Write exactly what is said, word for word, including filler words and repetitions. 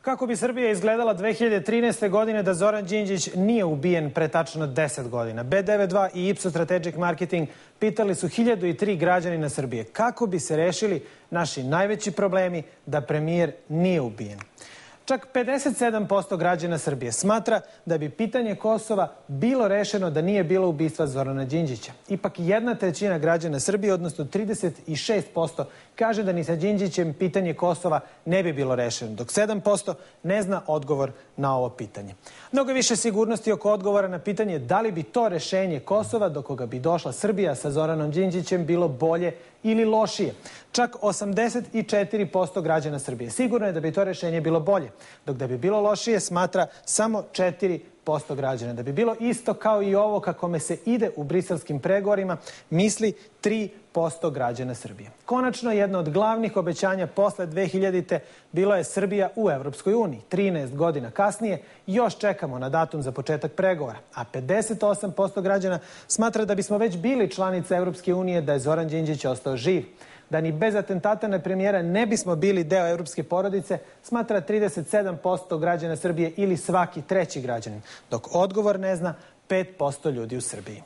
Kako bi Srbija izgledala dve hiljade trinaeste. godine da Zoran Đinđić nije ubijen pre tačno deset godina? B devedeset dva i Ipsos Strategic Marketing pitali su hiljadu i tri građanina Srbije kako bi se rešili naši najveći problemi da premijer nije ubijen. Čak pedeset sedam posto građana Srbije smatra da bi pitanje Kosova bilo rešeno da nije bilo ubistva Zorana Đinđića. Ipak jedna trećina građana Srbije, odnosno trideset šest posto, kaže da ni sa Đinđićem pitanje Kosova ne bi bilo rešeno, dok sedam posto ne zna odgovor na ovo pitanje. Mnogo više sigurnosti oko odgovora na pitanje da li bi to rešenje Kosova do koga bi došla Srbija sa Zoranom Đinđićem bilo bolje ili lošije. Čak osamdeset četiri posto građana Srbije sigurno je da bi to rešenje bilo bolje, dok da bi bilo lošije smatra samo četiri posto građana. Da bi bilo isto kao i ovo kako me se ide u briselskim pregovorima, misli tri posto građana Srbije. Konačno, jedno od glavnih obećanja posle dve hiljadite. bilo je Srbija u Evropskoj uniji. trinaest godina kasnije još čekamo na datum za početak pregovora, a pedeset osam posto građana smatra da bismo već bili članica Evropske unije da je Zoran Đinđić ostao živ. Da ni bez atentata na premijera ne bismo bili deo evropske porodice, smatra trideset sedam posto građana Srbije ili svaki treći građanin, dok odgovor ne zna pet posto ljudi u Srbiji.